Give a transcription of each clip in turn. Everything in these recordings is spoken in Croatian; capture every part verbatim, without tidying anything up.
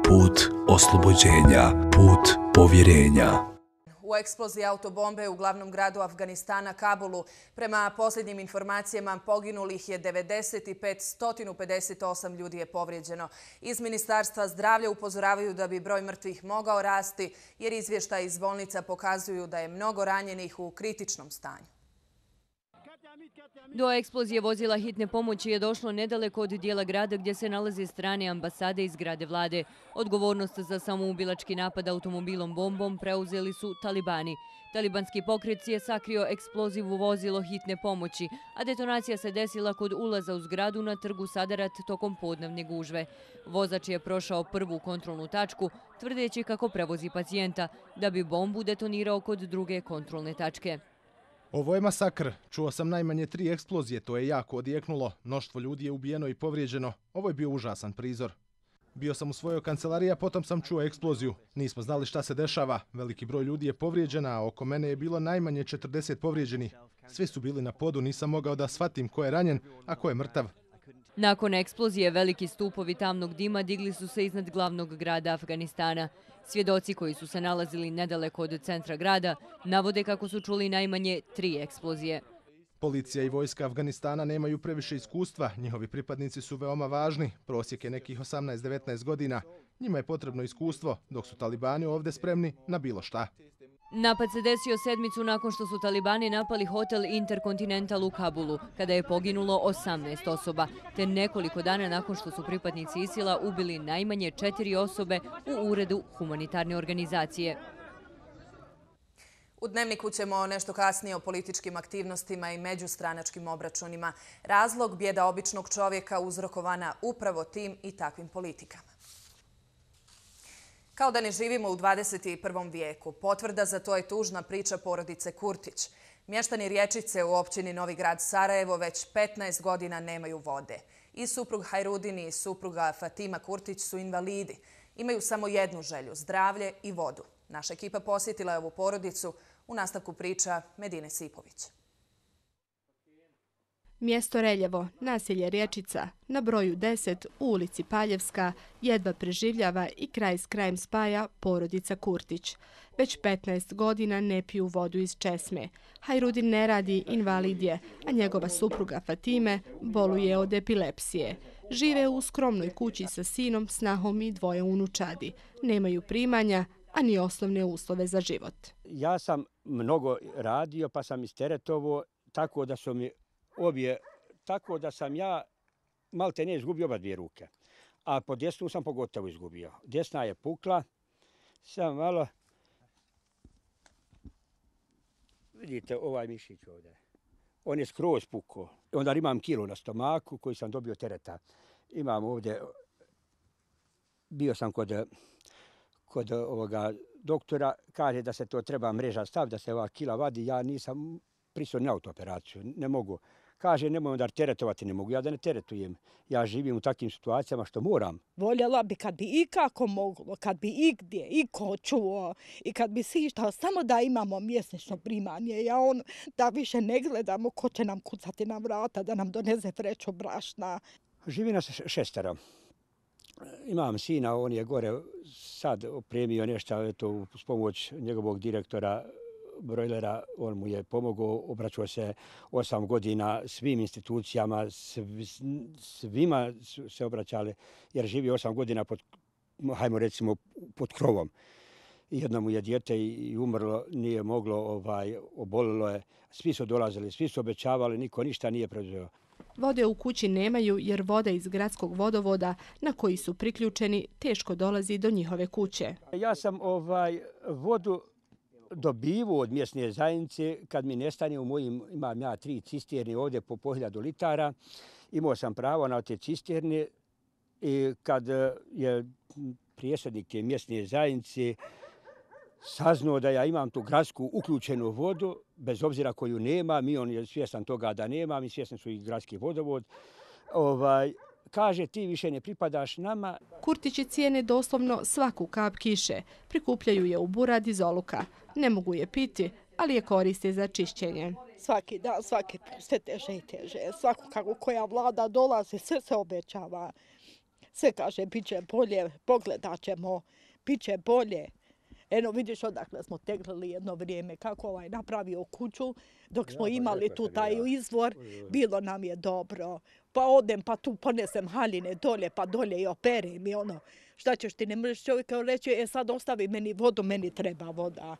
put oslobođenja, put povjerenja. U eksploziji autobombe u glavnom gradu Afganistana, Kabulu, prema posljednjim informacijama poginulih je devedeset i pet, sto pedeset osam ljudi je povrijeđeno. Iz Ministarstva zdravlja upozoravaju da bi broj mrtvih mogao rasti, jer izvještaji iz bolnica pokazuju da je mnogo ranjenih u kritičnom stanju. Do eksplozije vozila hitne pomoći je došlo nedaleko od dijela grada gdje se nalaze strane ambasade i zgrade vlade. Odgovornost za samoubilački napad automobilom bombom preuzeli su talibani. Talibanski pokret je sakrio eksploziv u vozilo hitne pomoći, a detonacija se desila kod ulaza u zgradu na trgu Sadarat tokom podnevne gužve. Vozač je prošao prvu kontrolnu tačku, tvrdeći kako prevozi pacijenta, da bi bombu detonirao kod druge kontrolne tačke. Ovo je masakr. Čuo sam najmanje tri eksplozije, to je jako odjeknulo. Mnoštvo ljudi je ubijeno i povrijeđeno. Ovo je bio užasan prizor. Bio sam u svojoj kancelariji, a potom sam čuo eksploziju. Nismo znali šta se dešava. Veliki broj ljudi je povrijeđena, a oko mene je bilo najmanje četrdeset povrijeđenih. Svi su bili na podu, nisam mogao da shvatim ko je ranjen, a ko je mrtav. Nakon eksplozije veliki stupovi tamnog dima digli su se iznad glavnog grada Afganistana. Svjedoci koji su se nalazili nedaleko od centra grada navode kako su čuli najmanje tri eksplozije. Policija i vojska Afganistana nemaju previše iskustva, njihovi pripadnici su veoma važni, prosjek je nekih osamnaest do devetnaest godina. Njima je potrebno iskustvo, dok su talibani ovdje spremni na bilo šta. Napad se desio sedmicu nakon što su talibani napali hotel Intercontinental u Kabulu, kada je poginulo osamnaest osoba, te nekoliko dana nakon što su pripadnici ISIL-a ubili najmanje četiri osobe u uredu humanitarne organizacije. U Dnevniku ćemo nešto kasnije o političkim aktivnostima i međustranačkim obračunima. Razlog bijeda običnog čovjeka uzrokovana upravo tim i takvim politikama. Kao da ne živimo u dvadeset prvom vijeku. Potvrda za to je tužna priča porodice Kurtić. Mještani Rječice u općini Novi Grad Sarajevo već petnaest godina nemaju vode. I suprug Hajrudin i supruga Fatima Kurtić su invalidi. Imaju samo jednu želju, zdravlje i vodu. Naša ekipa posjetila je ovu porodicu. U nastavku priča Medine Sipović. Mjesto Reljevo, naselje Rječica, na broju deset u ulici Paljevska, jedva preživljava i kraj s krajem spaja porodica Kurtić. Već petnaest godina ne piju vodu iz česme. Hajrudin ne radi, invalid je, a njegova supruga Fatime boluje od epilepsije. Žive u skromnoj kući sa sinom, snahom i dvoje unučadi. Nemaju primanja, a ni osnovne uslove za život. Ja sam mnogo radio, pa sam isteretovo, tako da su mi obje, tako da sam ja malte ne izgubio oba dvije ruke. A po desnu sam pogotovo izgubio. Desna je pukla, sam malo, vidite ovaj mišić ovdje, on je skroz pukao. Onda imam kilo na stomaku koji sam dobio tereta. Imam ovdje, bio sam kod, kod ovoga doktora, kaže da se to treba mreža staviti, da se ova kila vadi. Ja nisam pristao na autooperaciju, ne mogu. Kaže, nemoj onda teretovati, ne mogu ja da ne teretujem. Ja živim u takvim situacijama što moram. Voljela bi kad bi i kako moglo, kad bi i gdje, i ko čuo, i kad bi si ištao, samo da imamo mjesečno primanje. Ja on, da više ne gledamo ko će nam kucati na vrata, da nam donese vreću brašna. Živim nas šestero. Imam sina, on je gore sad opremio nešto, eto, s pomoć njegovog direktora brojlera, on mu je pomogao, obraćao se osam godina svim institucijama, svima su se obraćali, jer živi osam godina pod, hajmo recimo, pod krovom. Jedno mu je dijete i umrlo, nije moglo, ovaj, obolilo je. Svi su dolazili, svi su obećavali, niko ništa nije preuzeo. Vode u kući nemaju jer voda iz gradskog vodovoda na koji su priključeni teško dolazi do njihove kuće. Ja sam ovaj vodu dobivu od mjesne zajednice kad mi nestane u mojim, imam ja tri cisterne ovdje po po hiljadu litara. Imao sam pravo na te cisterne i kad je prijesednik te mjesne zajednice saznao da ja imam tu gradsku uključenu vodu, bez obzira koju nema, mi on je svjestan toga da nema, mi svjesni su i gradski vodovod, ovaj, kaže ti više ne pripadaš nama. Kurtići cijene doslovno svaku kap kiše. Prikupljaju je u burad iz oluka. Ne mogu je piti, ali je koriste za čišćenje. Svaki dan, svaki put sve teže i teže. Svako kako koja vlada dolazi, sve se obećava. Sve kaže, bit će bolje, pogledat ćemo, bit će bolje. Eno, vidiš odakle smo teglili jedno vrijeme, kako ovaj napravio kuću, dok smo imali tu taj izvor, bilo nam je dobro. Pa odem, pa tu ponesem haljine dolje, pa dolje i operem i ono. Šta ćeš ti, ne možeš čovjeka reći, e sad ostavi meni vodu, meni treba voda.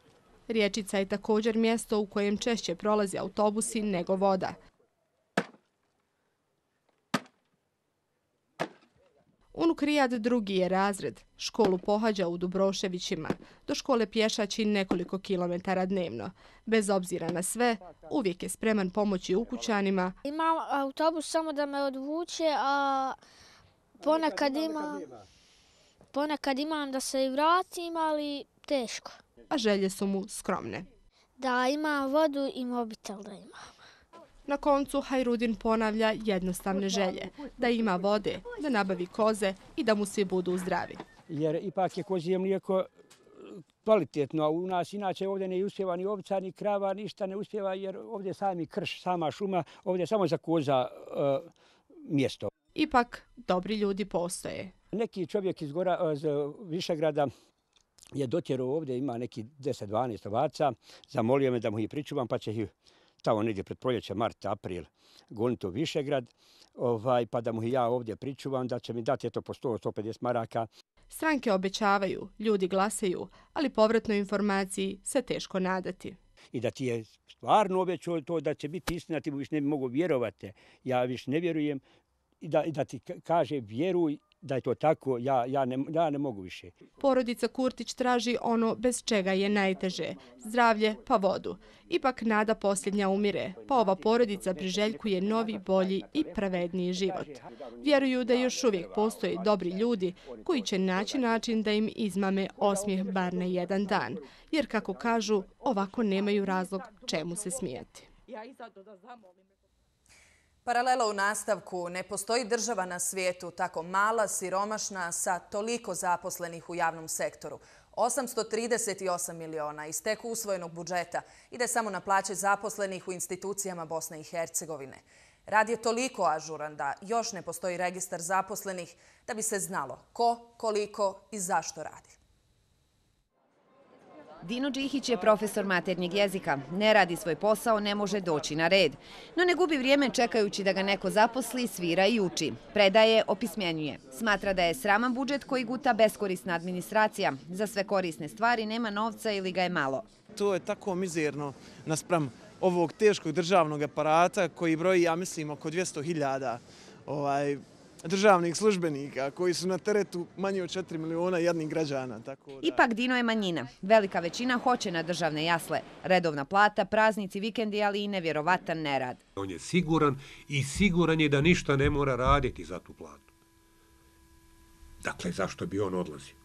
Rječica je također mjesto u kojem češće prolaze autobusi nego voda. Unuk Rijad drugi je razred. Školu pohađa u Dubroševićima. Do škole pješači nekoliko kilometara dnevno. Bez obzira na sve, uvijek je spreman pomoći ukućanima. Imam autobus samo da me odvuče, a ponekad imam, ponekad imam da se i vratim, ali teško. A želje su mu skromne. Da imam vodu i mobitel da imam. Na koncu Hajrudin ponavlja jednostavne želje. Da ima vode, da nabavi koze i da mu svi budu zdravi. Jer ipak je kozije mlijeko kvalitetno, a u nas inače ovdje ne uspjeva ni ovca, ni krava, ništa ne uspjeva jer ovdje sami krš, sama šuma, ovdje je samo za koza uh, mjesto. Ipak, dobri ljudi postoje. Neki čovjek iz Gora, iz Višegrada je dotjerao ovdje, ima neki deset dvanaest ovaca, zamolio me da mu ih pričuvam, pa će ih tamo negdje pred proljeće, mart, april, goniti u Višegrad, ovaj, pa da mu ih ja ovdje pričuvam, da će mi dati eto po sto do sto pedeset maraka. Stranke obećavaju, ljudi glasaju, ali povratnoj informaciji se teško nadati. I da ti je stvarno obećao to da će biti istina, ti mu više ne bi mogu vjerovati. Ja više ne vjerujem i da, i da ti kaže vjeruj da je to tako, ja, ja, ne, ja ne mogu više. Porodica Kurtić traži ono bez čega je najteže, zdravlje pa vodu. Ipak nada posljednja umire, pa ova porodica priželjkuje novi, bolji i pravedniji život. Vjeruju da još uvijek postoje dobri ljudi koji će naći način da im izmame osmijeh bar na jedan dan, jer kako kažu, ovako nemaju razlog čemu se smijati. Paralela u nastavku. Ne postoji država na svijetu tako mala, siromašna, sa toliko zaposlenih u javnom sektoru. osamsto trideset osam miliona iz tek usvojenog budžeta ide samo na plaće zaposlenih u institucijama Bosne i Hercegovine. Rad je toliko ažuran da još ne postoji registar zaposlenih da bi se znalo ko, koliko i zašto radi. Dino Đihić je profesor maternjeg jezika. Ne radi svoj posao, ne može doći na red. No ne gubi vrijeme čekajući da ga neko zaposli, svira i uči. Predaje, opismjenjuje. Smatra da je sraman budžet koji guta beskorisna administracija. Za sve korisne stvari nema novca ili ga je malo. To je tako mizerno naspram ovog teškog državnog aparata koji broji, ja mislim, oko dvjesto hiljada ovaj, državnih službenika koji su na teretu manje od četiri miliona jednih građana. Tako da... Ipak Dino je manjina. Velika većina hoće na državne jasle. Redovna plata, praznici, vikendi, ali i nevjerovatan nerad. On je siguran i siguran je da ništa ne mora raditi za tu platu. Dakle, zašto bi on odlazio?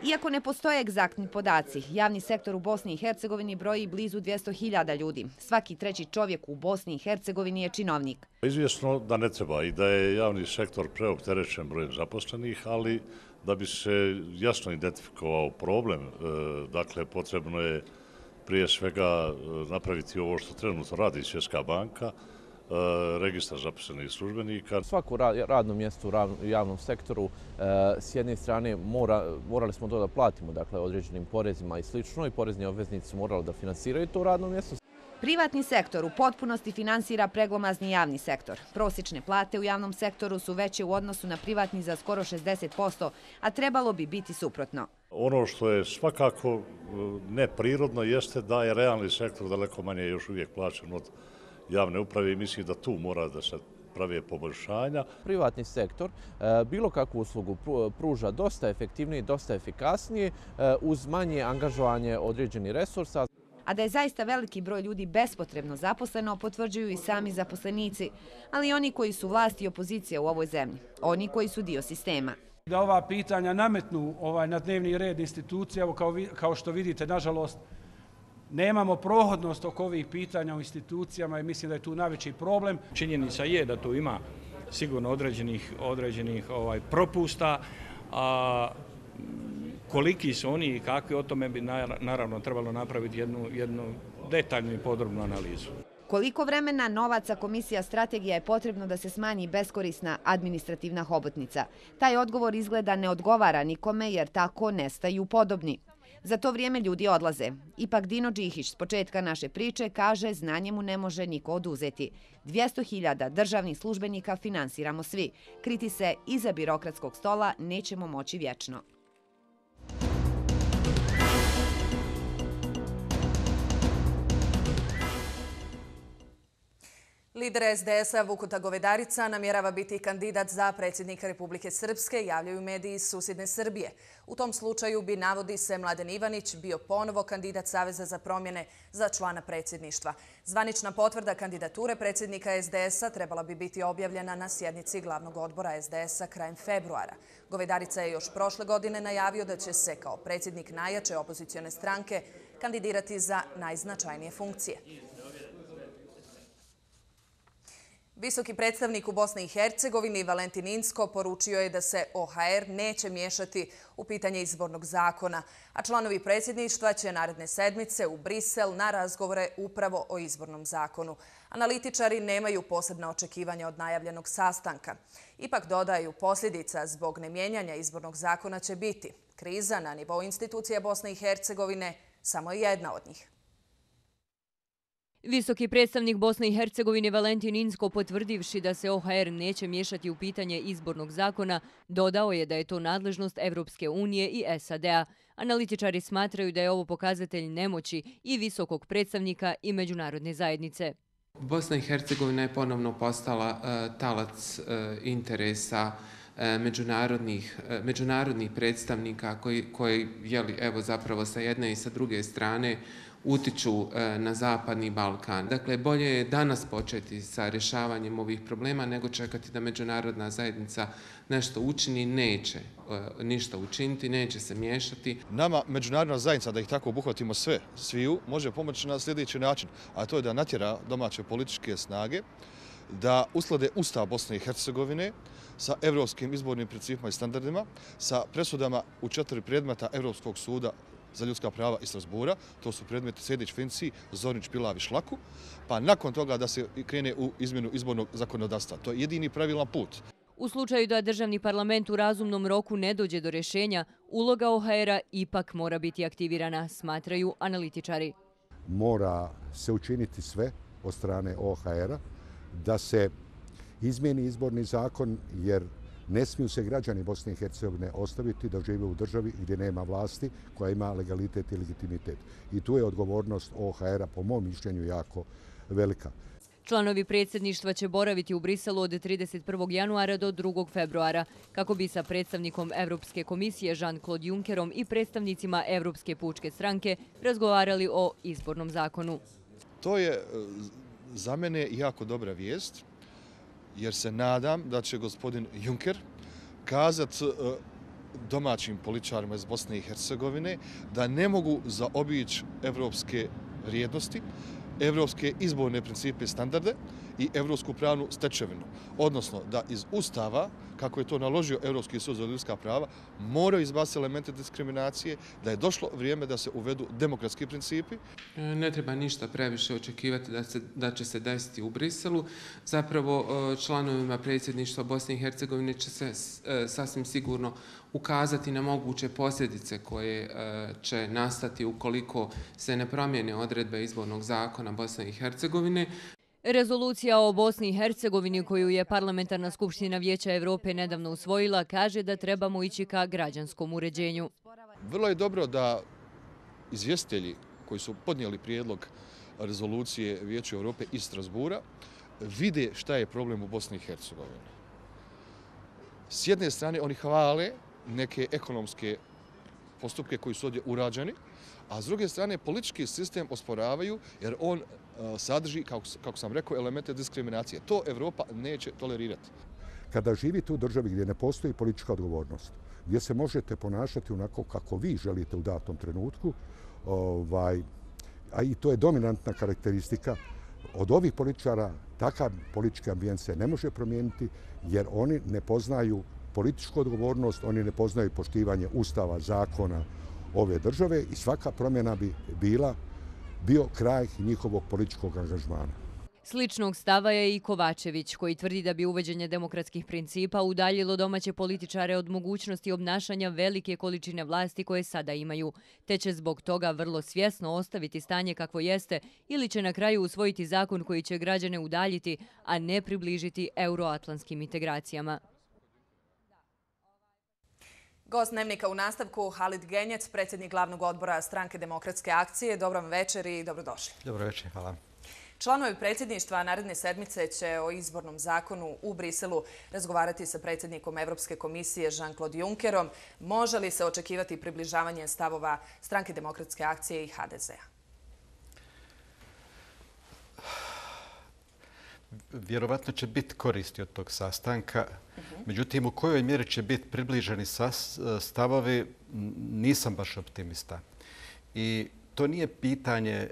Iako ne postoje egzaktni podaci, javni sektor u Bosni i Hercegovini broji blizu dvjesto hiljada ljudi. Svaki treći čovjek u Bosni i Hercegovini je činovnik. Izvjesno da ne treba i da je javni sektor preopterećen brojem zaposlenih, ali da bi se jasno identifikovao problem, dakle potrebno je prije svega napraviti ovo što trenutno radi Svjetska banka, registar zaposlenih službenika. Svako radno mjesto u javnom sektoru s jedne strane mora, morali smo to da platimo, dakle određenim porezima i slično, i porezni obveznici su morali da finansiraju to radno mjesto. Privatni sektor u potpunosti finansira preglomazni javni sektor. Prosječne plate u javnom sektoru su veće u odnosu na privatni za skoro šezdeset posto, a trebalo bi biti suprotno. Ono što je svakako neprirodno jeste da je realni sektor daleko manje još uvijek plaćen od javne uprave i mislim da tu mora da se prave poboljšanja. Privatni sektor bilo kakvu uslugu pruža dosta efektivnije, dosta efikasnije uz manje angažovanje određenih resursa. A da je zaista veliki broj ljudi bespotrebno zaposleno, potvrđuju i sami zaposlenici, ali i oni koji su vlast i opozicija u ovoj zemlji, oni koji su dio sistema. Da ova pitanja nametnu ovaj, na dnevni red institucija, evo kao, kao što vidite, nažalost, nemamo prohodnost oko ovih pitanja u institucijama i mislim da je tu najveći problem. Činjenica je da tu ima sigurno određenih, određenih ovaj, propusta, a koliki su oni i kakvi, o tome bi naravno trebalo napraviti jednu, jednu detaljnu i podrobnu analizu. Koliko vremena, novaca, komisija, strategija je potrebno da se smanji beskorisna administrativna hobotnica? Taj odgovor izgleda ne odgovara nikome jer tako nestaju podobni. Za to vrijeme ljudi odlaze. Ipak Dino Đihić s početka naše priče kaže znanje mu ne može niko oduzeti. dvjesto hiljada državnih službenika finansiramo svi. Kriti se iza birokratskog stola nećemo moći vječno. Lider es de es-a Vukuta Govedarica namjerava biti kandidat za predsjednika Republike Srpske, javljaju mediji iz susjedne Srbije. U tom slučaju bi, navodi se, Mladen Ivanić bio ponovo kandidat Saveza za promjene za člana predsjedništva. Zvanična potvrda kandidature predsjednika es de es-a trebala bi biti objavljena na sjednici glavnog odbora es de es-a krajem februara. Govedarica je još prošle godine najavio da će se kao predsjednik najjače opozicione stranke kandidirati za najznačajnije funkcije. Visoki predstavnik u Bosni i Hercegovini Valentin Inzko poručio je da se o ha er neće miješati u pitanje izbornog zakona, a članovi predsjedništva će naredne sedmice u Brisel na razgovore upravo o izbornom zakonu. Analitičari nemaju posebna očekivanja od najavljenog sastanka. Ipak dodaju, posljedica zbog nemijenjanja izbornog zakona će biti. Kriza na nivou institucija Bosne i Hercegovine samo je jedna od njih. Visoki predstavnik Bosne i Hercegovine Valentin Inzko, potvrdivši da se o ha er neće miješati u pitanje izbornog zakona, dodao je da je to nadležnost Evropske unije i es a de a. Analitičari smatraju da je ovo pokazatelj nemoći i visokog predstavnika i međunarodne zajednice. Bosna i Hercegovina je ponovno postala uh, talac uh, interesa uh, međunarodnih, uh, međunarodnih predstavnika koji, koji jeli, evo, zapravo sa jedne i sa druge strane utiču na Zapadni Balkan. Dakle, bolje je danas početi sa rješavanjem ovih problema nego čekati da međunarodna zajednica nešto učini. Neće ništa učiniti, neće se miješati. Nama međunarodna zajednica, da ih tako obuhvatimo sve, sviju, može pomoći na sljedeći način, a to je da natjera domaće političke snage da usklade Ustav Bosne i Hercegovine sa evropskim izbornim principima i standardima, sa presudama u četiri predmeta Evropskog suda za ljudska prava iz Strasbura, to su predmeti Sejdić, Finci, Zornić, Pilav i Šlaku, pa nakon toga da se krene u izmjenu izbornog zakonodavstva. To je jedini pravilan put. U slučaju da državni parlament u razumnom roku ne dođe do rješenja, uloga o ha er-a ipak mora biti aktivirana, smatraju analitičari. Mora se učiniti sve od strane o ha er-a da se izmijeni izborni zakon, jer ne smiju se građani Bosne i Hercegovine ostaviti da žive u državi gdje nema vlasti koja ima legalitet i legitimitet. I tu je odgovornost o ha er-a, po mom mišljenju, jako velika. Članovi predsjedništva će boraviti u Briselu od trideset prvog januara do drugog februara, kako bi sa predstavnikom Evropske komisije Jean-Claude Junckerom i predstavnicima Evropske pučke stranke razgovarali o izbornom zakonu. To je za mene jako dobra vijest, jer se nadam da će gospodin Juncker kazati domaćim političarima iz Bosne i Hercegovine da ne mogu zaobići evropske vrijednosti, evropske izborne principe i standarde i evropsku pravnu stečevinu. Odnosno da iz Ustava, kako je to naložio Evropski sud za ljudska prava, moraju izbaciti elemente diskriminacije, da je došlo vrijeme da se uvedu demokratski principi. Ne treba ništa previše očekivati da, se, da će se desiti u Briselu. Zapravo članovima predsjedništva Bosne i Hercegovine će se sasvim sigurno ukazati na moguće posljedice koje će nastati ukoliko se ne promijene odredbe izbornog zakona Bosne i Hercegovine. Rezolucija o Bosni i Hercegovini koju je Parlamentarna skupština Vijeća Evrope nedavno usvojila kaže da trebamo ići ka građanskom uređenju. Vrlo je dobro da izvjestitelji koji su podnijeli prijedlog rezolucije Vijeća Evrope iz Strasbura vide šta je problem u Bosni i Hercegovini. S jedne strane oni hvale neke ekonomske postupke koji su ovdje urađeni, a s druge strane politički sistem osporavaju jer on sadrži, kako, kako sam rekao, elemente diskriminacije. To Evropa neće tolerirati. Kada živite u državi gdje ne postoji politička odgovornost, gdje se možete ponašati onako kako vi želite u datom trenutku, ovaj, a i to je dominantna karakteristika, od ovih političara takav politički ambijent se ne može promijeniti jer oni ne poznaju političku odgovornost, oni ne poznaju poštivanje ustava, zakona ove države i svaka promjena bi bila bio kraj njihovog političkog angažmana. Sličnog stava je i Kovačević, koji tvrdi da bi uvođenje demokratskih principa udaljilo domaće političare od mogućnosti obnašanja velike količine vlasti koje sada imaju, te će zbog toga vrlo svjesno ostaviti stanje kakvo jeste ili će na kraju usvojiti zakon koji će građane udaljiti, a ne približiti euroatlantskim integracijama. Gost Dnevnika u nastavku Halid Genjec, predsjednik glavnog odbora Stranke demokratske akcije. Dobro vam večer i dobrodošli. Dobro večer, hvala. Članovi predsjedništva naredne sedmice će o izbornom zakonu u Briselu razgovarati sa predsjednikom Evropske komisije Jean-Claude Junckerom. Može li se očekivati približavanje stavova Stranke demokratske akcije i H D Z-a? Vjerovatno će biti koristi od tog sastanka. Međutim, u kojoj mjeri će biti približeni stavovi, nisam baš optimista. I to nije pitanje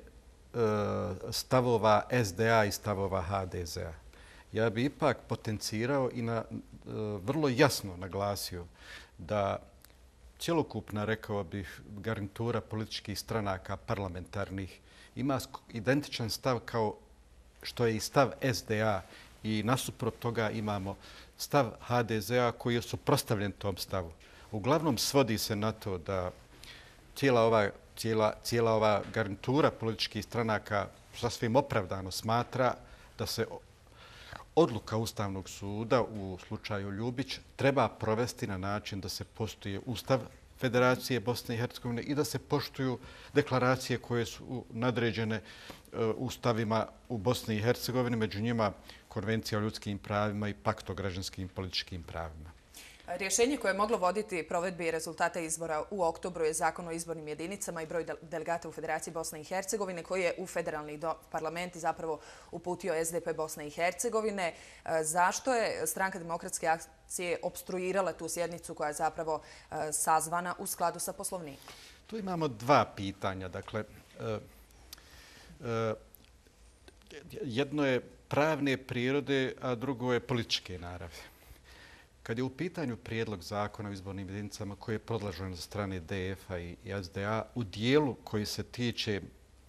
stavova S D A i stavova H D Z-a. Ja bi ipak potencirao i na, vrlo jasno naglasio da cjelokupna, rekao bih, garnitura političkih stranaka parlamentarnih ima identičan stav kao što je i stav S D A i nasuprot toga imamo stav H D Z-a koji je suprotstavljen tom stavu. Uglavnom svodi se na to da cijela ova Cijela, cijela ova garnitura političkih stranaka sasvim opravdano smatra da se odluka Ustavnog suda u slučaju Ljubić treba provesti na način da se poštuje Ustav Federacije Bosne i Hercegovine i da se poštuju deklaracije koje su nadređene ustavima u Bosni i Hercegovini, među njima Konvencija o ljudskim pravima i Pakt o građanskim i političkim pravima. Rješenje koje je moglo voditi provedbi rezultata izbora u oktobru je Zakon o izbornim jedinicama i broj delegata u Federaciji Bosne i Hercegovine koji je u federalni parlament zapravo uputio S D P Bosne i Hercegovine. Zašto je Stranka demokratske akcije opstruirala tu sjednicu koja je zapravo sazvana u skladu sa Poslovnikom? Tu imamo dva pitanja. Dakle, jedno je pravne prirode, a drugo je političke naravi. Kad je u pitanju prijedlog zakona o izbornim jedinicama koji je predložen za strane D F-a i S D A u dijelu koji se tiče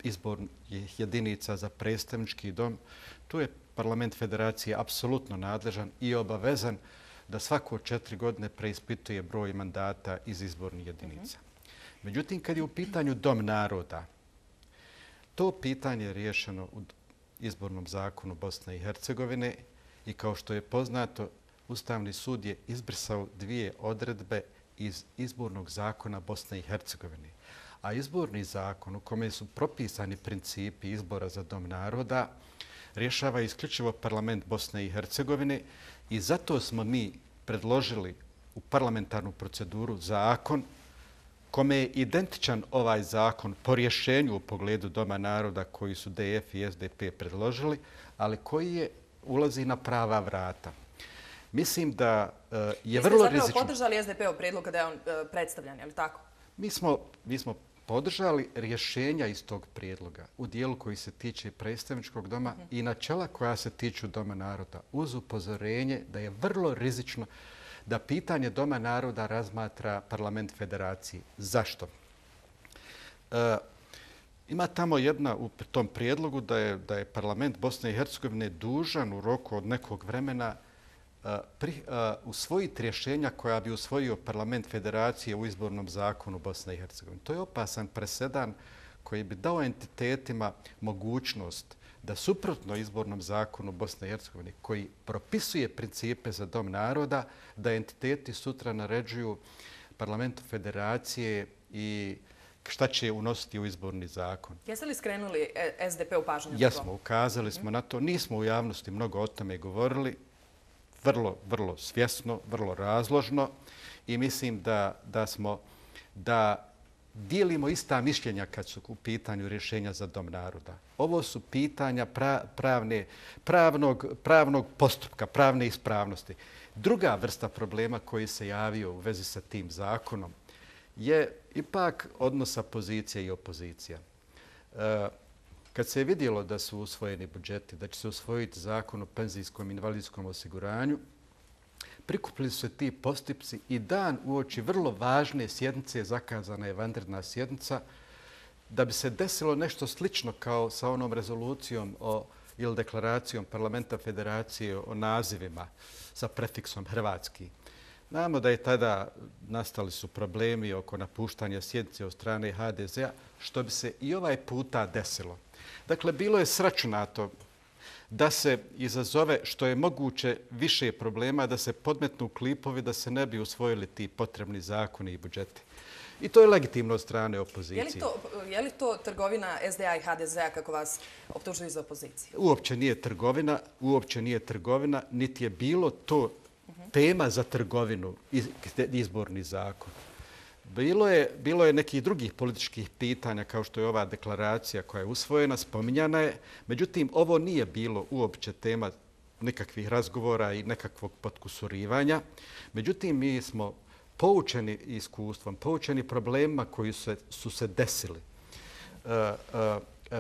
izbornih jedinica za predstavnički dom, tu je parlament federacije apsolutno nadležan i obavezan da svako četiri godine preispituje broj mandata iz izbornih jedinica. Međutim, kad je u pitanju dom naroda, to pitanje je riješeno u izbornom zakonu Bosne i Hercegovine i kao što je poznato, Ustavni sud je izbrisao dvije odredbe iz izbornog zakona Bosne i Hercegovine. A izborni zakon u kome su propisani principi izbora za dom naroda rješava isključivo parlament Bosne i Hercegovine i zato smo mi predložili u parlamentarnu proceduru zakon kome je identičan ovaj zakon po rješenju u pogledu doma naroda koji su D F i S D P predložili, ali koji je ulazi na prava vrata. Mislim da je vrlo rizično. Vi ste zapravo podržali S D P-ov prijedlog kada je on predstavljan, je li tako? Mi smo, mi smo podržali rješenja iz tog prijedloga u dijelu koji se tiče predstavničkog doma uh-huh. i načela koja se tiču doma naroda uz upozorenje da je vrlo rizično da pitanje doma naroda razmatra parlament federacije. Zašto? E, ima tamo jedna u tom prijedlogu da je, da je parlament Bosne i Hercegovine dužan u roku od nekog vremena Pri, uh, usvojiti rješenja koja bi usvojio parlament federacije u izbornom zakonu Bosne i Hercegovine. To je opasan presedan koji bi dao entitetima mogućnost da suprotno izbornom zakonu Bosne i Hercegovine koji propisuje principe za dom naroda, da entiteti sutra naređuju parlamentu federacije i šta će unositi u izborni zakon. Jeste li skrenuli S D P u pažnju? Jesmo, ukazali smo na to. Nismo u javnosti mnogo o tome govorili. Vrlo, vrlo svjesno, vrlo razložno i mislim da, da smo, da dijelimo ista mišljenja kad su u pitanju rješenja za dom naroda. Ovo su pitanja pra, pravne, pravnog, pravnog postupka, pravne ispravnosti. Druga vrsta problema koji se javio u vezi sa tim zakonom je ipak odnosa pozicije i opozicija. E, Kad se je vidjelo da su usvojeni budžeti, da će se usvojiti zakon o penzijskom i invalidskom osiguranju, prikupili su se ti postupci i dan uoči vrlo važne sjednice, zakazana je vanredna sjednica, da bi se desilo nešto slično kao sa onom rezolucijom o ili deklaracijom Parlamenta Federacije o nazivima sa prefiksom hrvatski. Znamo da je tada nastali su problemi oko napuštanja sjednice od strane ha de zea, što bi se i ovaj puta desilo. Dakle, bilo je sračunato da se izazove što je moguće više problema, da se podmetnu klipovi, da se ne bi usvojili ti potrebni zakoni i budžeti. I to je legitimno od strane opozicije. Je li to, je li to trgovina es de a i ha de zea kako vas optužuju iz opozicije? Uopće nije trgovina, uopće nije trgovina, niti je bilo to tema za trgovinu, izborni zakon. Bilo je, bilo je nekih drugih političkih pitanja kao što je ova deklaracija koja je usvojena, spominjana je. Međutim, ovo nije bilo uopće tema nikakvih razgovora i nekakvog potkusurivanja. Međutim, mi smo poučeni iskustvom, poučeni problemima koji su se, su se desili. Uh, uh, uh,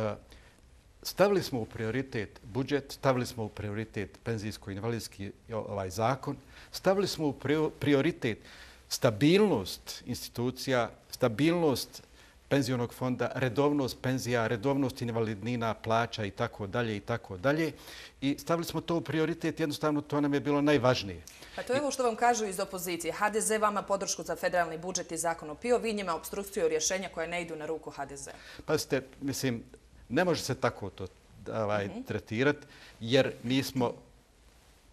stavili smo u prioritet budžet, stavili smo u prioritet penzijsko-invalidski ovaj zakon, stavili smo u prioritet stabilnost institucija, stabilnost penzionog fonda, redovnost penzija, redovnost invalidnina, plaća i tako dalje i tako dalje. I stavili smo to u prioritet, jednostavno to nam je bilo najvažnije. Pa to je ovo što vam kažu iz opozicije. ha de ze vama podršku za federalni budžet i zakon o pio, vi njima obstrukciju rješenja koje ne idu na ruku ha de zea. Pazite, mislim, ne može se tako to ovaj, mm-hmm. tretirati, jer mi smo,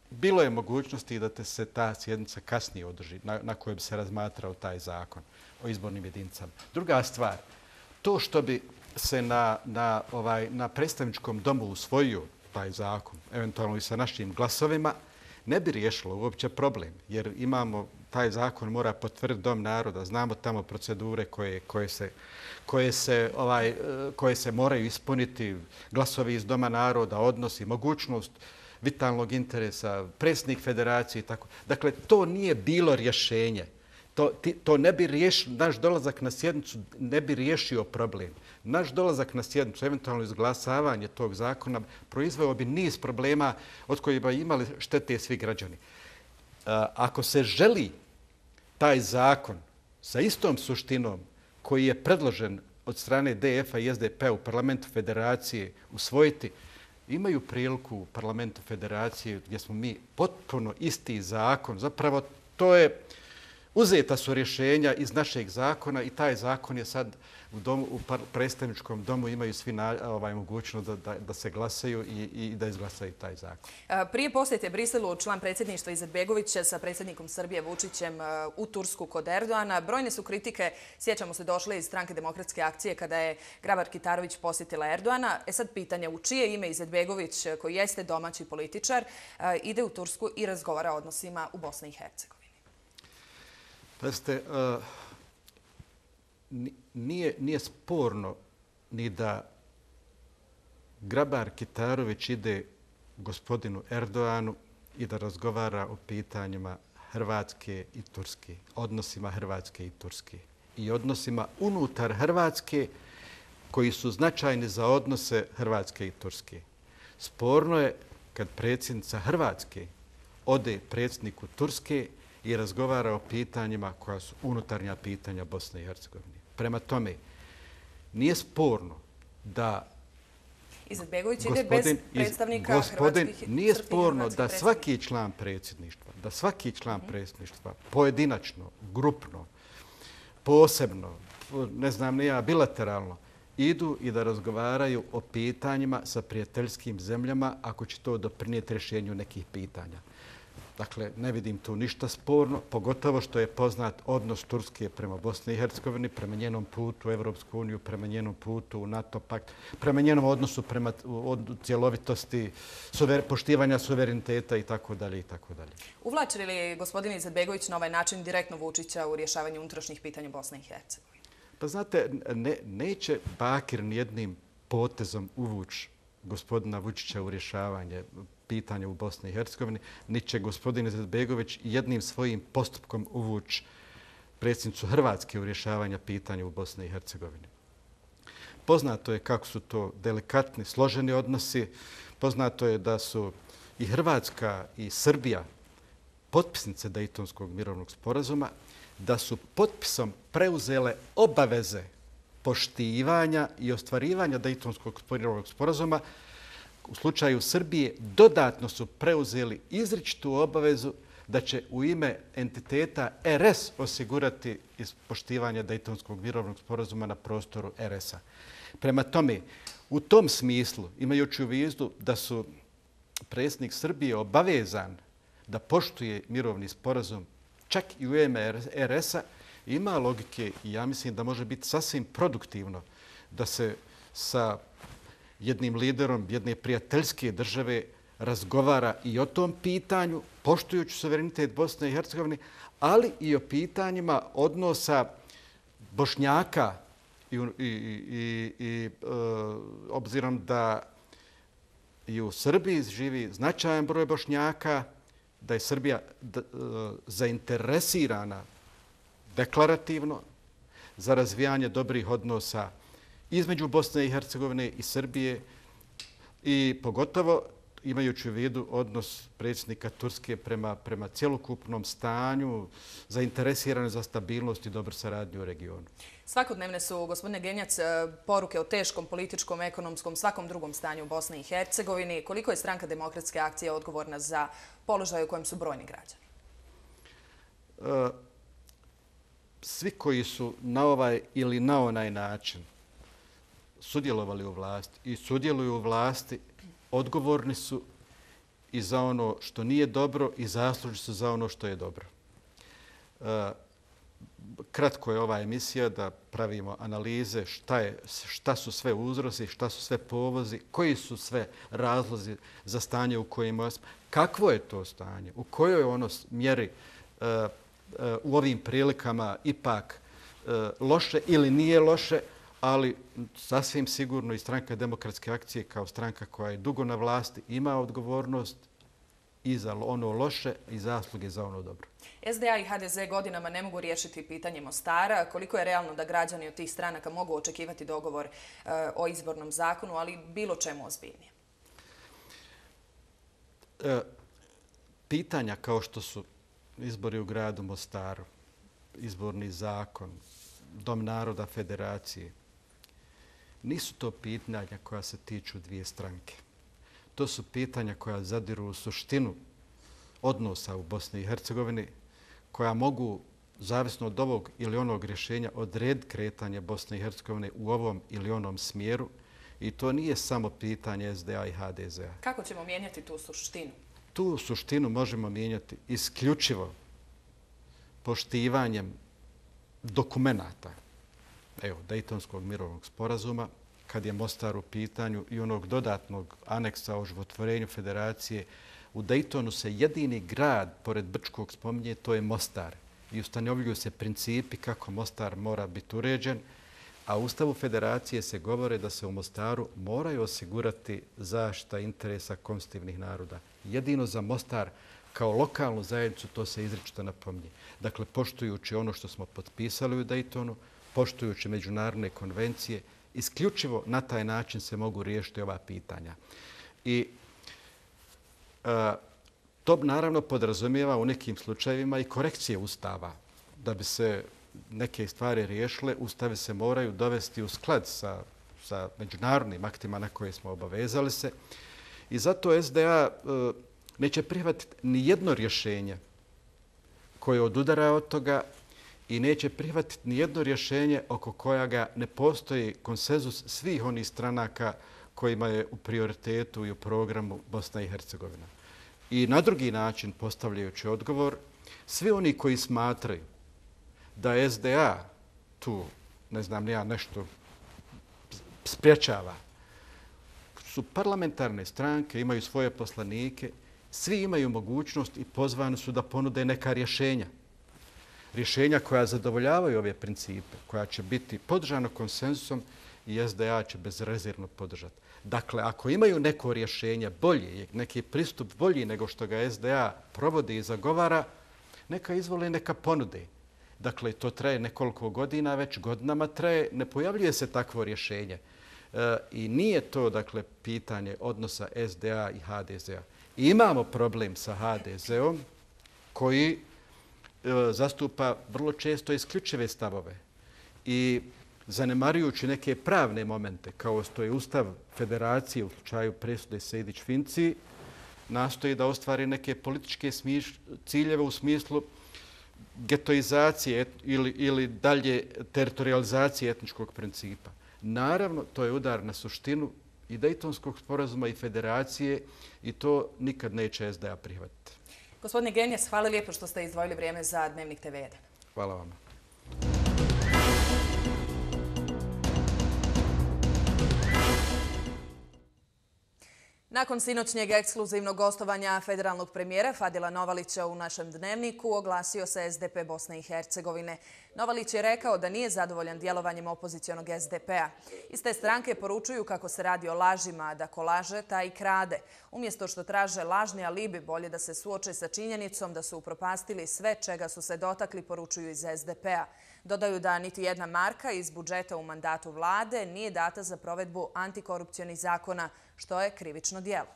bilo je mogućnosti da te se ta sjednica kasnije održi, na, na kojoj bi se razmatrao taj zakon o izbornim jedinicama. Druga stvar, to što bi se na, na, ovaj, na predstavničkom domu usvojio taj zakon, eventualno i sa našim glasovima, ne bi riješilo uopće problem, jer imamo, taj zakon mora potvrditi Dom naroda, znamo tamo procedure koje, koje, se, koje, se, ovaj, koje se moraju ispuniti, glasovi iz Doma naroda, odnosi, mogućnost vitalnog interesa, predsjednik federacije i tako. Dakle, to nije bilo rješenje. To, to ne bi riješio, naš dolazak na sjednicu ne bi riješio problem. Naš dolazak na sjednicu, eventualno izglasavanje tog zakona, proizveo bi niz problema od kojih bi imali štete svi građani. Ako se želi taj zakon sa istom suštinom koji je predložen od strane de efa i es de pe u Parlamentu Federacije usvojiti, imaju priliku u Parlamentu Federacije gdje smo mi potpuno isti zakon. Zapravo to je, uzeta su rješenja iz našeg zakona i taj zakon je sad u, domu, u predstavničkom domu imaju svi na, ovaj, mogućnost da, da, da se glasaju i, i da izglasaju taj zakon. Prije posjete Briselu član predsjedništva Izetbegović sa predsjednikom Srbije Vučićem u Tursku kod Erdoana. Brojne su kritike, sjećamo se, došle iz Stranke demokratske akcije kada je Grabar-Kitarović posjetila Erdoana. E sad pitanje, u čije ime Izetbegović, koji jeste domaći političar, ide u Tursku i razgovara o odnosima u Bosni i Hercegovini? Pazite, uh, nije, nije sporno ni da Grabar-Kitarović ide gospodinu Erdoanu i da razgovara o pitanjima Hrvatske i Turske, odnosima Hrvatske i Turske i odnosima unutar Hrvatske koji su značajni za odnose Hrvatske i Turske. Sporno je kad predsjednica Hrvatske ode predsjedniku Turske i razgovara o pitanjima koja su unutarnja pitanja Bosne i Hercegovine. Prema tome, nije sporno da Izetbegović ide bez predstavnika gospodin, hrvatskih... Nije sporno da svaki član predsjedništva, da svaki član mm-hmm. predsjedništva pojedinačno, grupno, posebno, ne znam ni ja, bilateralno, idu i da razgovaraju o pitanjima sa prijateljskim zemljama ako će to doprinijeti rješenju nekih pitanja. Dakle, ne vidim tu ništa sporno, pogotovo što je poznat odnos Turske prema Bosni i Hercegovini, prema njenom putu u Evropsku uniju, prema njenom putu u NATO pakt, prema njenom odnosu prema od cjelovitosti, suver, poštivanja suvereniteta i tako dalje i tako dalje. Uvlači li gospodin Izetbegović na ovaj način direktno Vučića u rješavanju unutrašnjih pitanja Bosne i Hercegovine? Pa znate, ne, neće Bakir nijednim potezom uvući gospodina Vučića u rješavanje pitanja u Bosni i Hercegovini, ni će gospodin Izetbegović jednim svojim postupkom uvući predsjednicu Hrvatske u rješavanje pitanja u Bosni i Hercegovini. Poznato je kako su to delikatni, složeni odnosi. Poznato je da su i Hrvatska i Srbija potpisnice Dejtonskog mirovnog sporazuma, da su potpisom preuzele obaveze poštivanja i ostvarivanja Dejtonskog mirovnog sporazuma u slučaju Srbije dodatno su preuzeli izričitu obavezu da će u ime entiteta R S osigurati poštivanje Dejtonskog mirovnog sporazuma na prostoru R S-a. Prema tome, u tom smislu, imajući u vidu da su predsjednik Srbije obavezan da poštuje mirovni sporazum čak i u ime R S-a, ima logike i ja mislim da može biti sasvim produktivno da se sa jednim liderom jedne prijateljske države razgovara i o tom pitanju, poštujući suverenitet Bosne i Hercegovine, ali i o pitanjima odnosa Bošnjaka i, i, i, i e, obzirom da i u Srbiji živi značajan broj Bošnjaka, da je Srbija d, e, zainteresirana deklarativno za razvijanje dobrih odnosa između Bosne i Hercegovine i Srbije i pogotovo imajući u vidu odnos predsjednika Turske prema, prema cjelokupnom stanju, zainteresirane za stabilnost i dobru saradnju u regionu. Svakodnevne su, gospodine Genjac, poruke o teškom političkom, ekonomskom, svakom drugom stanju u Bosni i Hercegovini. Koliko je Stranka demokratske akcije odgovorna za položaj u kojem su brojni građani? E, svi koji su na ovaj ili na onaj način sudjelovali u vlasti i sudjeluju u vlasti, odgovorni su i za ono što nije dobro i zaslužni su za ono što je dobro. E, kratko je ova emisija da pravimo analize šta, je, šta su sve uzroci, šta su sve povozi, koji su sve razlozi za stanje u kojima smo, kakvo je to stanje, u kojoj ono mjeri e, e, u ovim prilikama ipak e, loše ili nije loše, ali sasvim sigurno i Stranka demokratske akcije kao stranka koja je dugo na vlasti ima odgovornost i za ono loše i zasluge za ono dobro. S D A i H D Z godinama ne mogu riješiti pitanje Mostara. Koliko je realno da građani od tih stranaka mogu očekivati dogovor e, o izbornom zakonu, ali bilo čemu ozbiljnije? E, pitanja kao što su izbori u gradu Mostaru, izborni zakon, Dom naroda federacije, nisu to pitanja koja se tiču dvije stranke. To su pitanja koja zadiru u suštinu odnosa u Bosni i Hercegovini, koja mogu, zavisno od ovog ili onog rješenja, odrediti kretanje Bosne i Hercegovine u ovom ili onom smjeru. I to nije samo pitanje S D A i H D Z-a. Kako ćemo mijenjati tu suštinu? Tu suštinu možemo mijenjati isključivo poštivanjem dokumenata, evo, Dejtonskog mirovnog sporazuma, kad je Mostar u pitanju i onog dodatnog aneksa o životvorenju federacije. U Dejtonu se jedini grad, pored Brčkog, spominje, to je Mostar. I ustanovljuju se principi kako Mostar mora biti uređen, a u Ustavu federacije se govore da se u Mostaru moraju osigurati zaštita interesa konstitutivnih naroda. Jedino za Mostar kao lokalnu zajednicu to se izričito napominje. Dakle, poštujući ono što smo potpisali u Dejtonu, poštujući međunarodne konvencije, isključivo na taj način se mogu riješiti ova pitanja. I a, to naravno podrazumijeva u nekim slučajevima i korekcije Ustava. Da bi se neke stvari riješile, Ustavi se moraju dovesti u sklad sa, sa međunarodnim aktima na koje smo obavezali se. I zato S D A a, neće prihvatiti ni jedno rješenje koje odudara od toga i neće prihvatiti ni jedno rješenje oko kojega ne postoji konsenzus svih onih stranaka kojima je u prioritetu i u programu Bosna i Hercegovina. I na drugi način, postavljajući odgovor, svi oni koji smatraju da S D A tu, ne znam, nija nešto spriječava, su parlamentarne stranke, imaju svoje poslanike, svi imaju mogućnost i pozvani su da ponude neka rješenja. Rješenja koja zadovoljavaju ove principe, koja će biti podržano konsenzusom i S D A će bezrezervno podržati. Dakle, ako imaju neko rješenje bolje, neki pristup bolji nego što ga S D A provodi i zagovara, neka izvole, neka ponude. Dakle, to traje nekoliko godina, već godinama traje, ne pojavljuje se takvo rješenje. E, I nije to, dakle, pitanje odnosa S D A i H D Z-a. Imamo problem sa H D Z-om koji e, zastupa vrlo često isključive stavove. I zanemarujući neke pravne momente, kao što je Ustav Federacije u slučaju presude Sejdić-Finci, nastoji da ostvari neke političke ciljeve u smislu getoizacije ili, ili dalje teritorializacije etničkog principa. Naravno, to je udar na suštinu i Dejtonskog sporazuma i federacije i to nikad neće S D A prihvatiti. Gospodine Genjes, hvala lijepo što ste izdvojili vrijeme za Dnevnik T V jedan. Hvala vam. Nakon sinoćnjeg ekskluzivnog gostovanja federalnog premijera Fadila Novalića u našem Dnevniku oglasio se S D P Bosne i Hercegovine. Novalić je rekao da nije zadovoljan djelovanjem opozicionog S D P-a. Iz te stranke poručuju kako se radi o lažima, da ko laže, taj i krade. Umjesto što traže lažni alibi, bolje da se suoče sa činjenicom da su upropastili sve čega su se dotakli, poručuju iz S D P-a. Dodaju da niti jedna marka iz budžeta u mandatu vlade nije data za provedbu antikorupcionih zakona, što je krivično djelo.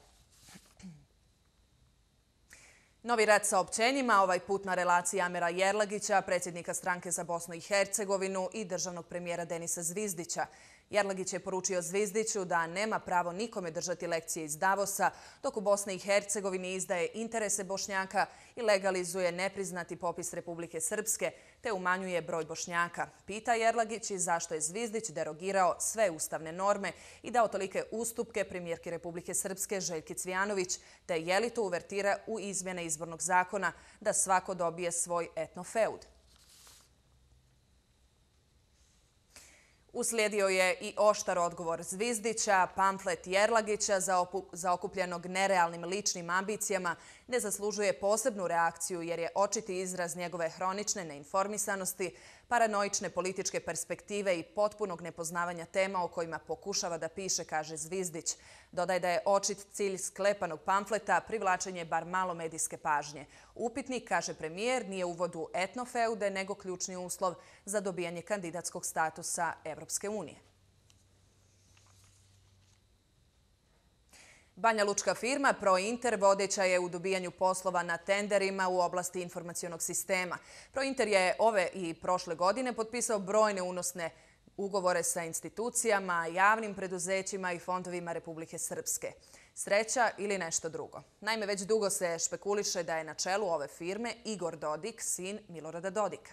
Novi rat saopćenjima, ovaj put na relaciji Amira Jerlagića, predsjednika stranke za Bosnu i Hercegovinu i državnog premijera Denisa Zvizdića. Jerlagić je poručio Zvizdiću da nema pravo nikome držati lekcije iz Davosa, dok u Bosni i Hercegovini izdaje interese Bošnjaka i legalizuje nepriznati popis Republike Srpske, te umanjuje broj Bošnjaka. Pita Jerlagić i zašto je Zvizdić derogirao sve ustavne norme i dao tolike ustupke premijerki Republike Srpske Željki Cvijanović, te je li to uvertira u izmjene izbornog zakona da svako dobije svoj etnofeud. Uslijedio je i oštar odgovor Zvizdića, pamflet Jerlagića za okupljenog nerealnim ličnim ambicijama ne zaslužuje posebnu reakciju jer je očiti izraz njegove hronične neinformisanosti, paranoične političke perspektive i potpunog nepoznavanja tema o kojima pokušava da piše, kaže Zvizdić. Dodaje da je očit cilj sklepanog pamfleta privlačenje bar malo medijske pažnje. Upitnik, kaže premijer, nije uvod u etnofeude, nego ključni uslov za dobijanje kandidatskog statusa Evropske unije. Banja Lučka firma Prointer vodeća je u dobijanju poslova na tenderima u oblasti informacionog sistema. Prointer je ove i prošle godine potpisao brojne unosne ugovore sa institucijama, javnim preduzećima i fondovima Republike Srpske. Sreća ili nešto drugo. Naime, već dugo se špekuliše da je na čelu ove firme Igor Dodik, sin Milorada Dodika.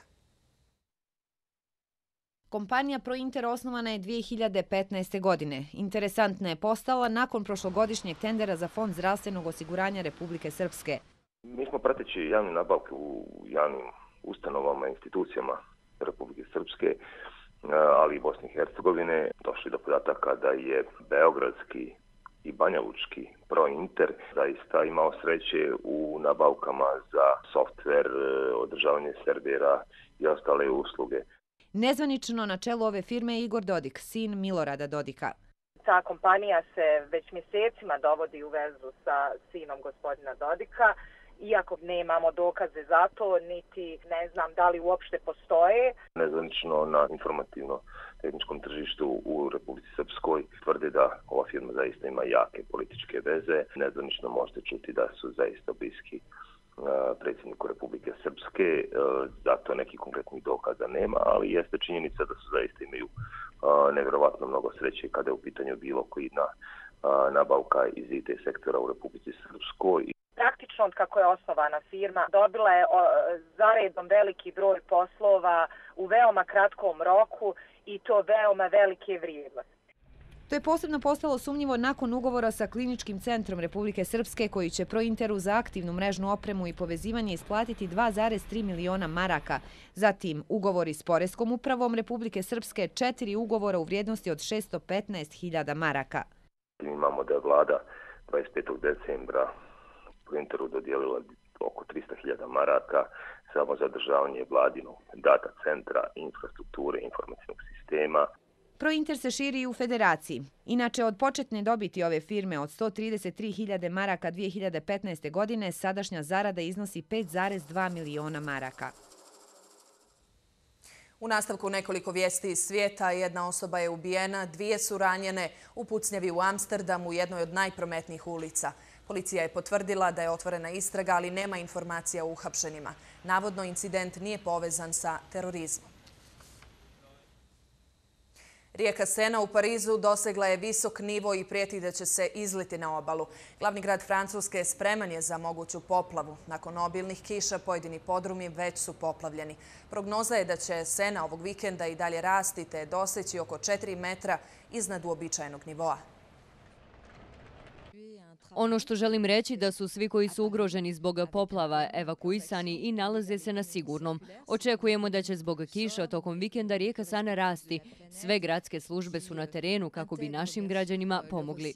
Kompanija Prointer osnovana je dvije hiljade petnaeste. godine. Interesantna je postala nakon prošlogodišnjeg tendera za Fond zdravstvenog osiguranja Republike Srpske. Mi smo prateći javne nabavke u javnim ustanovama i institucijama Republike Srpske, ali i Bosne i Hercegovine, došli do podataka da je beogradski i banjalučki Prointer zaista imao sreće u nabavkama za softver, održavanje servera i ostale usluge. Nezvanično na čelu ove firme je Igor Dodik, sin Milorada Dodika. Ta kompanija se već mjesecima dovodi u vezu sa sinom gospodina Dodika, iako nemamo dokaze za to, niti ne znam da li uopšte postoje. Nezvanično na informativno-tehničkom tržištu u Republici Srpskoj tvrde da ova firma zaista ima jake političke veze. Nezvanično možete čuti da su zaista bliski predsjedniku Republike Srpske, zato nekih konkretnih dokaza nema, ali jeste činjenica da su zaista imaju nevjerovatno mnogo sreće kada je u pitanju bilo koji nabavka iz I T sektora u Republici Srpskoj. Praktično od kako je osnovana firma dobila je zaredom veliki broj poslova u veoma kratkom roku i to veoma velike vrijednosti. To je posebno postalo sumnjivo nakon ugovora sa Kliničkim centrom Republike Srpske koji će Prointeru za aktivnu mrežnu opremu i povezivanje isplatiti dva zarez tri miliona maraka. Zatim ugovori s Poreskom upravom Republike Srpske, četiri ugovora u vrijednosti od šesto petnaest hiljada maraka. Imamo da je vlada dvadeset petog decembra Prointeru dodijelila oko trista hiljada maraka samo za održavanje vladinog data centra, infrastrukture, informacijnog sistema. Prointer se širi i u federaciji. Inače, od početne dobiti ove firme od sto trideset tri hiljade maraka dvije hiljade petnaeste. godine, sadašnja zarada iznosi pet zarez dva miliona maraka. U nastavku nekoliko vijesti iz svijeta, jedna osoba je ubijena, dvije su ranjene u pucnjavi u Amsterdamu, jednoj od najprometnijih ulica. Policija je potvrdila da je otvorena istraga, ali nema informacija o uhapšenima. Navodno, incident nije povezan sa terorizmom. Rijeka Sena u Parizu dosegla je visok nivo i prijeti da će se izliti na obalu. Glavni grad Francuske spreman je za moguću poplavu. Nakon obilnih kiša pojedini podrumi već su poplavljeni. Prognoza je da će Sena ovog vikenda i dalje rasti te doseći oko četiri metra iznad uobičajenog nivoa. Ono što želim reći da su svi koji su ugroženi zbog poplava evakuisani i nalaze se na sigurnom. Očekujemo da će zbog kiša tokom vikenda rijeka Sana rasti. Sve gradske službe su na terenu kako bi našim građanima pomogli.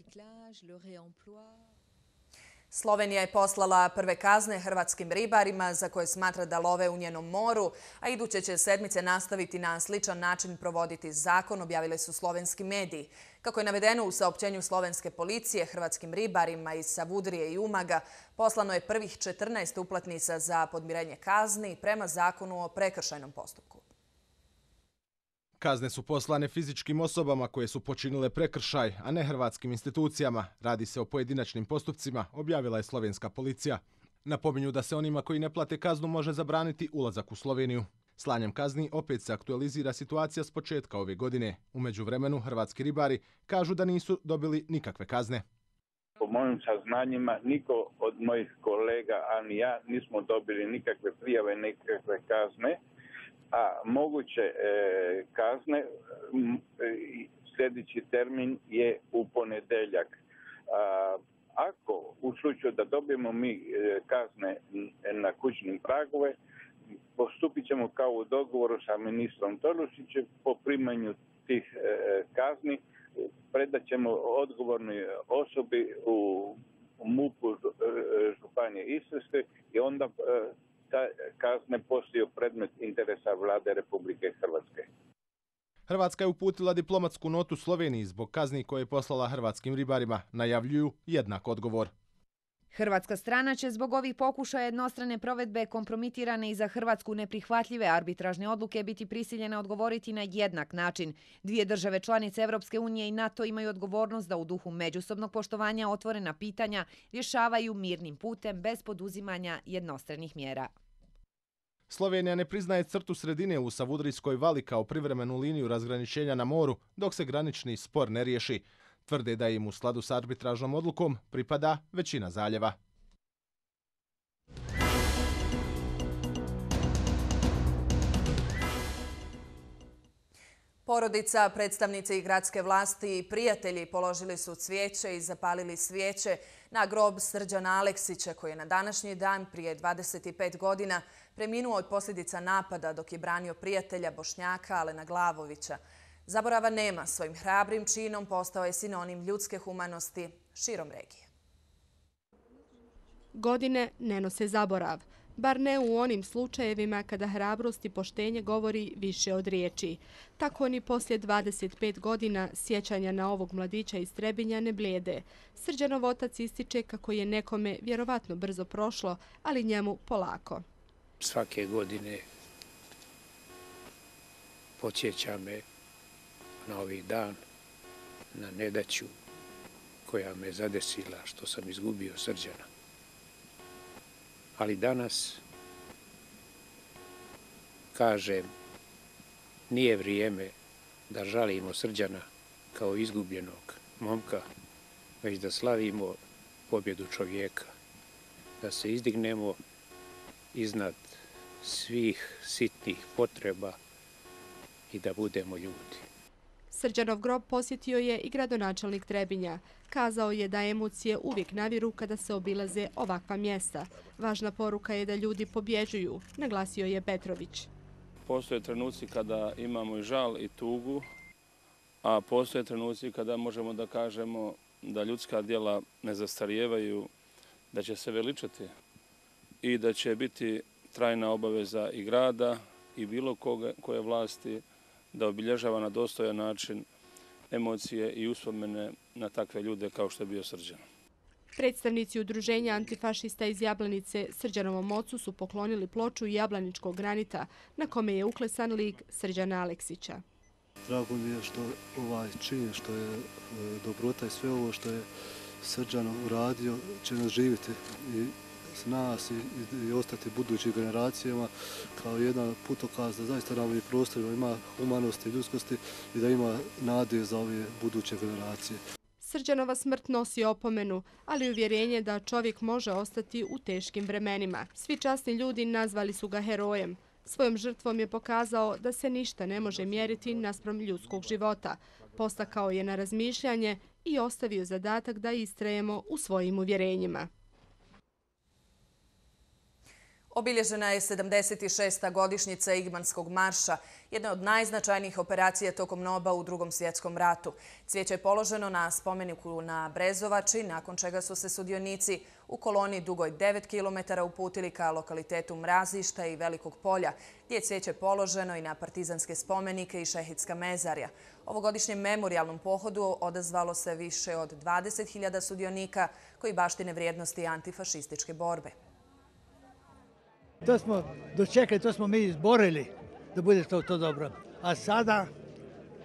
Slovenija je poslala prve kazne hrvatskim ribarima za koje smatra da love u njenom moru, a iduće će sedmice nastaviti na sličan način provoditi zakon, objavili su slovenski mediji. Kako je navedeno u saopćenju slovenske policije, hrvatskim ribarima iz Savudrije i Umaga poslano je prvih četrnaest uplatnica za podmirenje kazni prema zakonu o prekršajnom postupku. Kazne su poslane fizičkim osobama koje su počinile prekršaj, a ne hrvatskim institucijama. Radi se o pojedinačnim postupcima, objavila je slovenska policija. Napominju da se onima koji ne plate kaznu može zabraniti ulazak u Sloveniju. Slanjem kazni opet se aktualizira situacija s početka ove godine. U međuvremenu hrvatski ribari kažu da nisu dobili nikakve kazne. Po mojim saznanjima, niko od mojih kolega, a ni ja, nismo dobili nikakve prijave, nikakve kazne. A moguće e, kazne, e, sljedeći termin je u ponedeljak. A, ako u slučaju da dobijemo mi e, kazne na kućnim pragove, postupit ćemo kao u dogovoru sa ministrom Tolušićem po primanju tih e, kazni, predat ćemo odgovornoj osobi u, u MUP-u Županije Istarske i onda e, ta kazne postaju predmet interesa vlade Republike Hrvatske. Hrvatska je uputila diplomatsku notu Sloveniji zbog kazni koje je poslala hrvatskim ribarima. Najavljuju jednak odgovor. Hrvatska strana će zbog ovih pokušaja jednostrane provedbe kompromitirane i za Hrvatsku neprihvatljive arbitražne odluke biti prisiljena odgovoriti na jednak način. Dvije države članice Evropske unije i NATO imaju odgovornost da u duhu međusobnog poštovanja otvorena pitanja rješavaju mirnim putem bez poduzimanja jednostranih mjera. Slovenija ne priznaje crtu sredine u Savudrijskoj vali kao privremenu liniju razgraničenja na moru dok se granični spor ne riješi. Tvrde da im u skladu s arbitražnom odlukom pripada većina zaljeva. Porodica, predstavnici i gradske vlasti i prijatelji položili su cvijeće i zapalili svijeće na grob Srđana Aleksića koji je na današnji dan prije dvadeset pet godina preminuo od posljedica napada dok je branio prijatelja Bošnjaka Alena Glavovića. Zaborava nema, svojim hrabrim činom postao je sinonim ljudske humanosti širom regije. Godine ne nose zaborav, bar ne u onim slučajevima kada hrabrost i poštenje govori više od riječi. Tako ni poslije dvadeset pet godina sjećanja na ovog mladića iz Trebinja ne blijede. Srđanov otac ističe kako je nekome vjerovatno brzo prošlo, ali njemu polako. Svake godine podsjeća me na ovaj dan, na nedaću koja me zadesila što sam izgubio Srđana. Ali danas kažem, nije vrijeme da žalimo Srđana kao izgubljenog momka, već da slavimo pobjedu čovjeka, da se izdignemo iznad svih sitnih potreba i da budemo ljudi. Srđanov grob posjetio je i gradonačelnik Trebinja. Kazao je da emocije uvijek naviru kada se obilaze ovakva mjesta. Važna poruka je da ljudi pobjeđuju, naglasio je Petrović. Postoje trenuci kada imamo i žal i tugu, a postoje trenuci kada možemo da kažemo da ljudska djela ne zastarijevaju, da će se veličati i da će biti trajna obaveza i grada i bilo koga, koje vlasti da obilježava na dostojan način emocije i uspomene na takve ljude kao što je bio Srđan. Predstavnici udruženja antifašista iz Jablanice Srđanovom ocu su poklonili ploču jablaničkog granita na kome je uklesan lik Srđana Aleksića. Drago mi je što ovaj čin, što je dobrota i sve ovo što je Srđan uradio će nas živjeti i nas i, i ostati budućim generacijama kao jedan putokaz da zaista na ovim prostorima ima humanosti i ljudskosti i da ima nade za ove buduće generacije. Srđanova smrt nosi opomenu, ali uvjerenje da čovjek može ostati u teškim vremenima. Svi časni ljudi nazvali su ga herojem. Svojom žrtvom je pokazao da se ništa ne može mjeriti naspram ljudskog života. Postakao je na razmišljanje i ostavio zadatak da istrajemo u svojim uvjerenjima. Obilježena je sedamdeset šesta godišnjica Igmanskog marša, jedna od najznačajnijih operacija tokom N O B-a u Drugom svjetskom ratu. Cvijeće je položeno na spomeniku na Brezovači, nakon čega su se sudionici u koloni dugoj devet kilometara uputili ka lokalitetu Mrazišta i Velikog polja, gdje je cvijeće položeno i na partizanske spomenike i šehidska mezarja. Ovogodišnjem memorijalnom pohodu odazvalo se više od dvadeset hiljada sudionika koji baštine vrijednosti antifašističke borbe. To smo dočekali, to smo mi izborili da bude to, to dobro. A sada,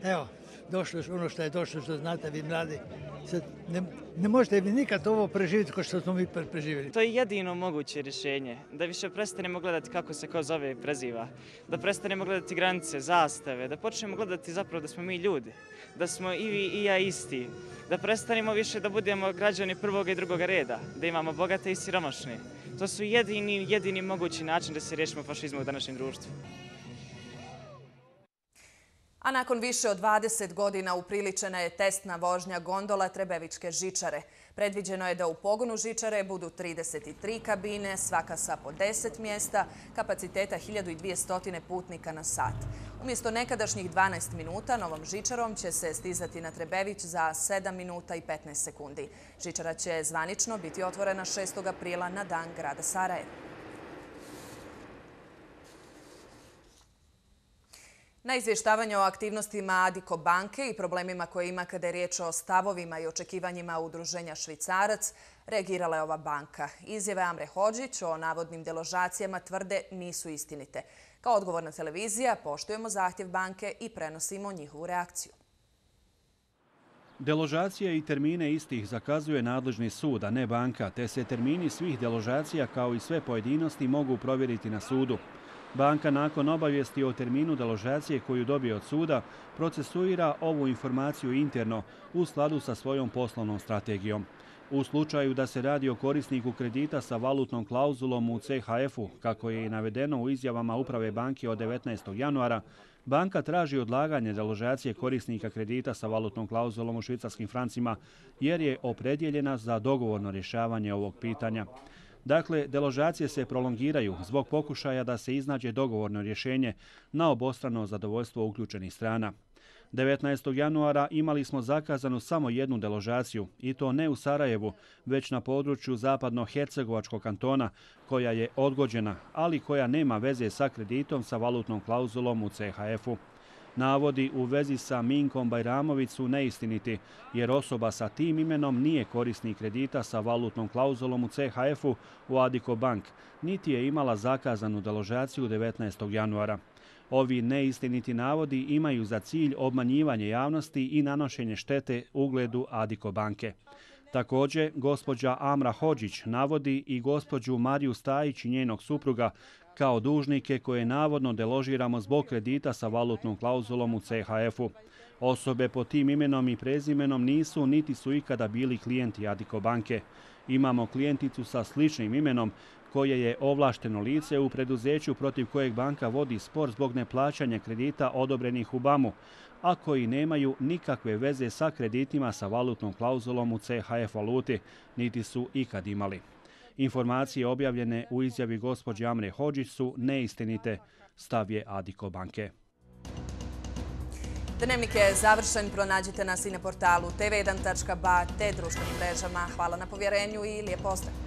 evo, došlo ono što je došlo, što znate vi mladi. Sad, ne, ne možete vi nikad ovo preživjeti kao što smo mi preživjeli. To je jedino moguće rješenje. Da više prestanemo gledati kako se ko zove i preziva. Da prestanemo gledati granice, zastave. Da počnemo gledati zapravo da smo mi ljudi. Da smo i vi i ja isti. Da prestanemo više da budemo građani prvog i drugog reda. Da imamo bogate i siromašne. To su jedini, jedini mogući način da se riješimo fašizmu u današnjem društvu. A nakon više od dvadeset godina upriličena je testna vožnja gondola Trebevičke žičare. Predviđeno je da u pogonu žičare budu trideset tri kabine, svaka sa po deset mjesta, kapaciteta hiljadu dvjesto putnika na sat. Umjesto nekadašnjih dvanaest minuta, novom žičarom će se stizati na Trebević za sedam minuta i petnaest sekundi. Žičara će zvanično biti otvorena šestog aprila na dan grada Sarajeva. Na izvještavanje o aktivnostima Adiko banke i problemima koje ima kada je riječ o stavovima i očekivanjima udruženja Švicarac, reagirala je ova banka. Izjave Amre Hodžić o navodnim deložacijama tvrde nisu istinite. Kao odgovorna televizija poštujemo zahtjev banke i prenosimo njihovu reakciju. Deložacije i termine istih zakazuje nadležni sud, a ne banka, te se termini svih deložacija kao i sve pojedinosti mogu provjeriti na sudu. Banka nakon obavijesti o terminu deložacije koju dobije od suda procesuira ovu informaciju interno u skladu sa svojom poslovnom strategijom. U slučaju da se radi o korisniku kredita sa valutnom klauzulom u C H F-u, kako je i navedeno u izjavama Uprave banke od devetnaestog januara, banka traži odlaganje deložacije korisnika kredita sa valutnom klauzulom u švicarskim francima jer je opredjeljena za dogovorno rješavanje ovog pitanja. Dakle, deložacije se prolongiraju zbog pokušaja da se iznađe dogovorno rješenje na obostrano zadovoljstvo uključenih strana. devetnaestog januara imali smo zakazanu samo jednu deložaciju, i to ne u Sarajevu, već na području zapadno-hercegovačkog kantona, koja je odgođena, ali koja nema veze sa kreditom sa valutnom klauzulom u C H F-u. Navodi u vezi sa Minkom Bajramović su neistiniti, jer osoba sa tim imenom nije korisnik kredita sa valutnom klauzulom u C H F-u u Adiko bank, niti je imala zakazanu deložaciju devetnaestog januara. Ovi neistiniti navodi imaju za cilj obmanjivanje javnosti i nanošenje štete ugledu Adiko banke. Također, gospođa Amra Hodžić navodi i gospođu Mariju Stajić i njenog supruga kao dužnike koje navodno deložiramo zbog kredita sa valutnom klauzulom u C H F-u. Osobe pod tim imenom i prezimenom nisu niti su ikada bili klijenti Adiko banke. Imamo klijenticu sa sličnim imenom koje je ovlašteno lice u preduzeću protiv kojeg banka vodi spor zbog neplaćanja kredita odobrenih u B A M-u, a koji nemaju nikakve veze sa kreditima sa valutnom klauzulom u C H F valuti, niti su ikad imali. Informacije objavljene u izjavi gospođe Amre Hodžić su neistinite, stav je Adiko banke. Dnevnik je završen, pronađite nas i na portalu te ve jedan tačka ba te društvenim mrežama. Hvala na povjerenju i lijep pozdrav!